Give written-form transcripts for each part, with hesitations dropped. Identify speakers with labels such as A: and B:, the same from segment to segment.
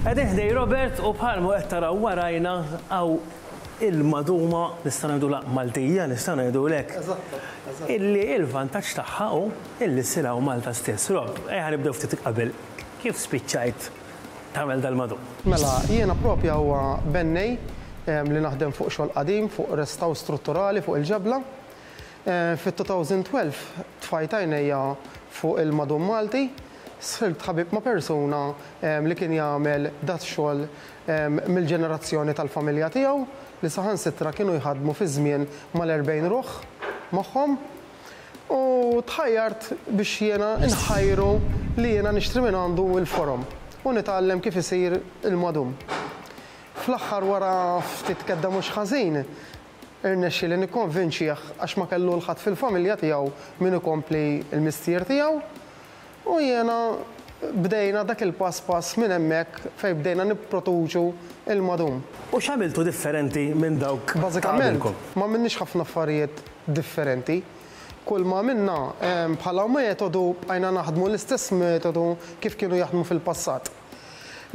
A: Qegħdin ħdej Robert u bħalma qed taraw warajna hawn il-maduma nistgħu ngħidulha Maltija, nistgħu ngħidulek. Illi il-vantaġġ tagħha hu illi ssir hawn Malta stess. Rob, ejja nibdew ftit qabel. Kif spiċċajt tagħmel dal-madum?
B: Mela, jiena propja huwa bennej li naħdem fuq xogħol qadim, fuq restawr strutturali fuq il-ġebla. Fit-2012 tfajt għajnejja fuq il-madum Malti, sħilt ħabib ma' persuna li kien jagħmel dat-xogħol mill-ġenerazzjoni tal-familja tiegħu li saħansitra kienu jħaddmu fi żmien mal-40 ruħ magħhom u tħajjart biex jiena nħajru li jiena nixtri mingħandu l-forom u nitgħallem kif isir il-madum. Fl-aħħar wara ftit kedda mhux ħażin Irnexxieli nikkonvinċih għax ma kellu 'l ħadd fil-familja tiegħu min ikompli l-mistier tiegħu u jiena bdejna dak il-pass pass minn hemmhekk fejn bdejna nipproduċu l-madum.
A: U x'għamiltu differenti minn dawk ta'
B: Bażikament
A: qabilkom?
B: m'għamilniex ħafna affarijiet differenti. Kull ma għamilna bħala metodu bqajna naħdmu l-istess metodu kif kienu jaħdmu fil-passat.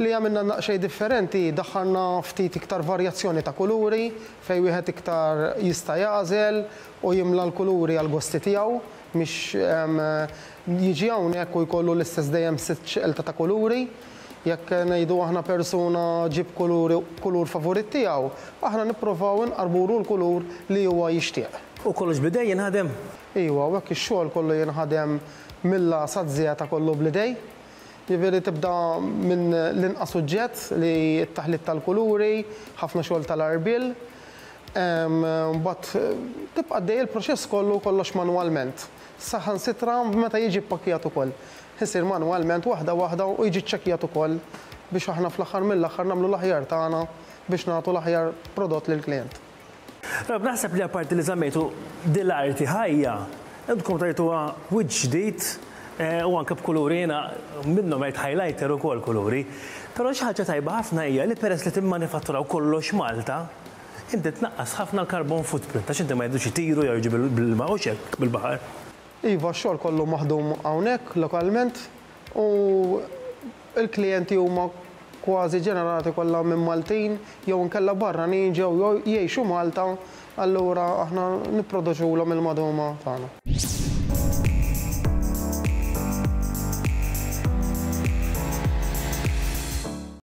B: Li għamilna daqsxejn differenti, daħħalna ftit iktar varjazzjoni ta' kuluri, fejn wieħed iktar jista' jagħżel u jimla l-kuluri għall-gosti tiegħu, mhix jiġi hawnhekk u jkollu l-istess dejjem sitt xelta ta' kuluri. Jekk ngħidu aħna persuna ġieb kuluri kulur favorit tiegħu, aħna nipprovaw inqarbulu l-kulur li huwa jixtieq.
A: U kollox bl-idej jinħadem?
B: Iwa, u hekk ix-xogħol kollu jinħadem mill-A saz-Z kollu bl-idej. Jiġifieri tibda minn l-inqas suġġett li t-taħlit tal-kuluri, ħafna xogħol tal-għarbiel. Mbagħad tibqa' għaddej il-proċess kollu kollox manwalment. Saħansitra meta jiġi ppakkjat ukoll. Isir manwalment waħda waħda u jiġi ċċekkjat ukoll biex aħna fl-aħħar mill-aħħar nagħmlu l-aħjar tagħna biex nagħtu l-aħjar prodott lill-klijent.
A: Rob, naħseb li apparti li żammejtu din l-arti ħajja, intkom tajtuha wiċċ ġdid u anke b'kuluri jiena minnhom rajt highlighter ukoll kuluri. Però xi ħaġa tajba ħafna hija li peress li timmanifatturaw kollox Malta, inti tnaqqas ħafna l-carbon footprint għax inti ma jridux itiru jew jiġu bil-ilma hux hekk bil-baħar.
B: Iva, x-xogħol kollu maħdum hawnhekk lokalment u l-klijenti huma kważi ġenerati kollha minn Maltin jew inkella barranin ġew jgħixu Malta allura aħna nipproduċulhom il-maduma tagħna.